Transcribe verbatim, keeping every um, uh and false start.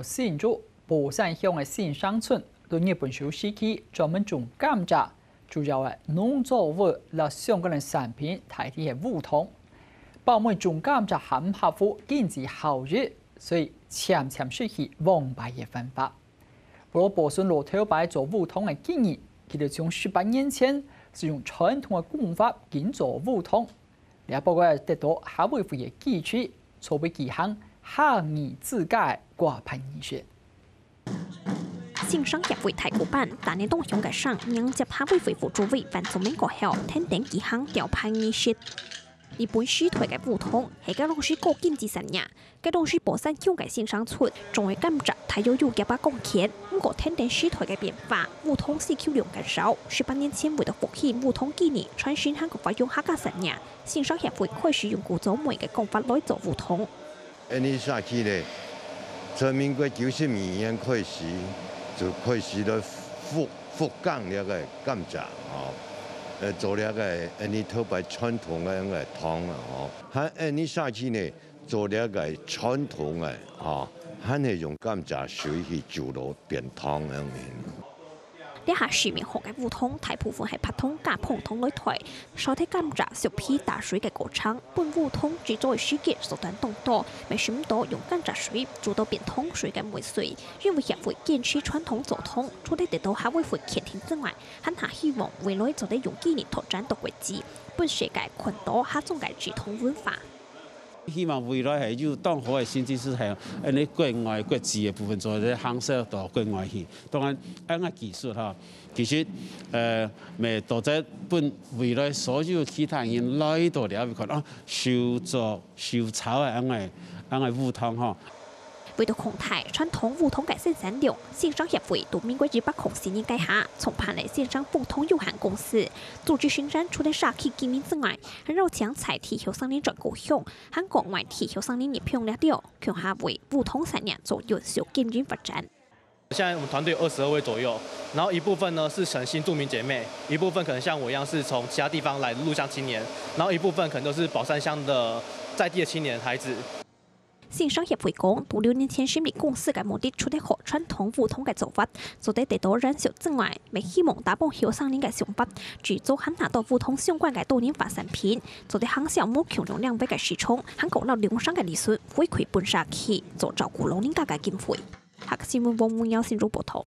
新竹寶山鄉个新生村，在日本手時期專門種甘蔗，主要个農作物摎相關个產品大體係烏糖。包尾種甘蔗還毋合乎經濟效益，所以漸漸失去往擺个繁華。不過保存老頭擺做烏糖个技藝，佢兜從十八年前就用傳統个工法緊做烏糖。這包括得到客委會个支持，籌備舉行客語自家个掛牌儀式。 新生協會大鼓班，打呢當響个聲，迎接客委會副主委范宗明過後，跈等舉行吊牌儀式。日本時代个烏糖係該當時个經濟產業，該當時寶山鄉个新生村種个甘蔗大約有一百公頃，毋過跈等時代个變化，烏糖需求量減少。十八年前為著復興烏糖技藝，傳承還過發揚客家產業，新生協會開始用古早味个工法來做烏糖。 恁呢社區呢，從民國九十二年開始，就開始來復，復耕這个甘蔗，吼，呃，做這个恁呢頭擺傳統个該个糖啊，吼，還恁呢社區呢，做這个傳統个，吼，還係用甘蔗水去煮落變糖恁呢。 這下市面項个烏糖大部分係白糖加紅糖來代，少忒甘蔗削皮打水个過程，分烏糖製作个時間縮短當多，乜食毋到用甘蔗水煮到變糖水个味緒。因為協會堅持傳統做糖，除了得到客委會肯定之外，還下希望未來做得用技藝拓展到國際，分世界看到客庄个製糖文化。 希望未來係有當好个成績係，恁呢國外、國際个部分做得行銷到國外去。當然，恁个技術吼，其實，呃，乜做得分未來所有其他人來到這位看，啊，手做、手炒个恁个、恁个烏糖吼。 為著擴大傳統烏糖个生產量，新生協會在民國一百空四年該下創辦了新生烏糖有限公司，組織生產除了社區居民之外，還邀請在地後生人轉故鄉，還過外地後生人入鄉了後，共下為烏糖產業做永續經營發展。現在我們團隊有二十二位左右，然後一部分呢是從新住民姐妹，一部分可能像我一樣是從其他地方來的入鄉青年，然後一部分可能都是寶山鄉的在地的青年孩子。 新生協會講，在六年前成立公司个目的，除了好傳統烏糖个做法做得得到延續之外，乜希望打破後生人个想法，製作還拿到烏糖相關个多元化產品，做得行銷無共樣領域个市場，還過摎零星个利潤回饋分社區，做照顧老人家个經費。客家新聞黃文耀新竹報導。